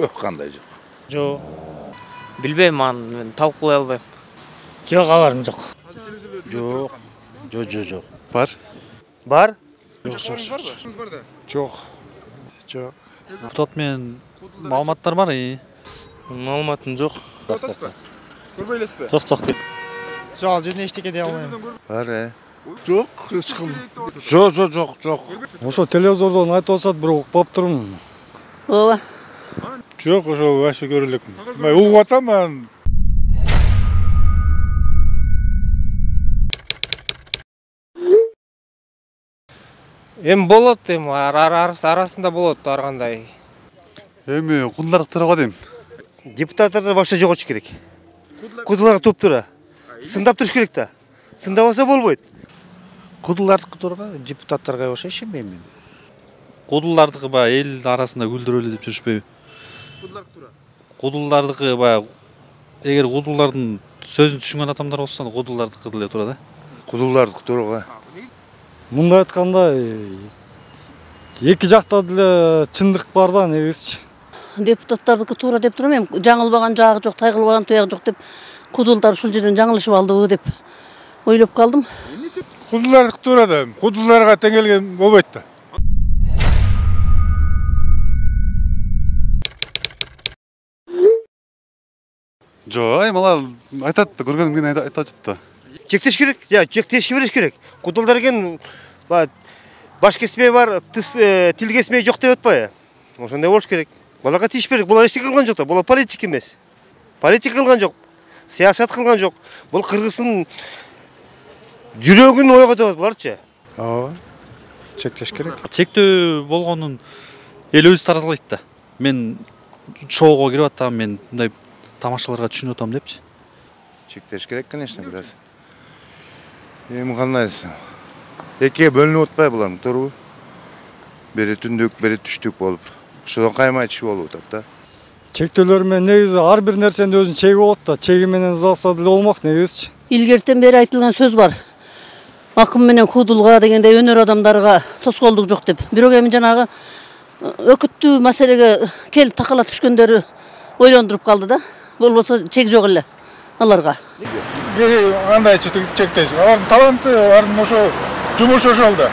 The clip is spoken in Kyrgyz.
Жок, кандай жок. Жок. Билбейм, мен талкуулай албайм. Жок, кабарым жок. Жок. Жок. Бар? Бар? Жок. Жок. Уртат менен маалыматтар бар. Маалыматым жок. Көрбөй элесизби? Жок. Жок, жөн эчтеке дей албайм. Бар, Жок, эч ким. Жок. Ошо телевизордон айтып атышат, бирок угуп турмун. Ооба. Жок, ошо вообще көрө элекмин. Мен угуп атам, мен. Болот, арасында болот ар кандай. Эми кудулар турага дейм. Депутаттар вообще жок болуш керек. Кудуларга топ тура. Сындап туруш керек да. Сындабаса болбойт. Кудулардыкы турга, депутаттарга болсо ишенбейм мен. Кудулардыкы баягы эл арасында күлдүрөлү деп жүрүшпөйбү? Кудулардыкы баягы эгер кудулардын сөзүн түшүнгөн адамдар болсо, кудулардыкы деле тура да. Кудулардыкы турга. Мындай айтканда, эки жакта деле чындык бар да, негизичи. Депутаттардыкы туура деп турам, эми жаңылбаган жагы жок, тайгылбаган туягы жок деп кудулдар ушул жерден жаңылышып алдыбы деп ойлоп калдым. Кудулардыкы туура да, кудуларга тең келген болбойт да. Жок, мала айтат да, көргөнүм менен айтат да. Чектеш керек, чектешке бериш керек. Кудулдар экен баш кесмей бар, тил кесмей жок деп атпайбы? Ошондой болуш керек. Буларга тийиш керек. Булар эчтеке кылган жок да. Булар политик эмес. Политик кылган жок. Саясат кылган жок. Бул Кыргыздын жүрөгүн ойготуп атат буларчы. Ооба. Чектеш керек. Чектөө болгонун эл өзү таразалайт да. Мен шоуго кирип атам, мен мындай тамашаларга түшүнүп атам депчи. Чектеш керек, конечно, бираз. Эми кандайсы? Экиге бөлүнүп атпайбы булар, туурабы? Бери түндүк, бери түштүк болуп. Ошодон каймай түшүп болуп атат да. Чектөөлөр менен негизи ар бир нерсенин өзүнүн чеги болот да. Чеги менен ызалса деле болмок негизичи. Илгертен бери айтылган сөз бар. Акым менен кудулга дегенде өнөр адамдарга тоскоолдук жок деп. Бирок эми жанагы өкүттүү маселеге кел такала түшкөндөрү ойлондуруп калды да. Болбосо чек жок эле аларга. Кандай чектеш? Алардын таланты, алардын ошо жумушу ошол да.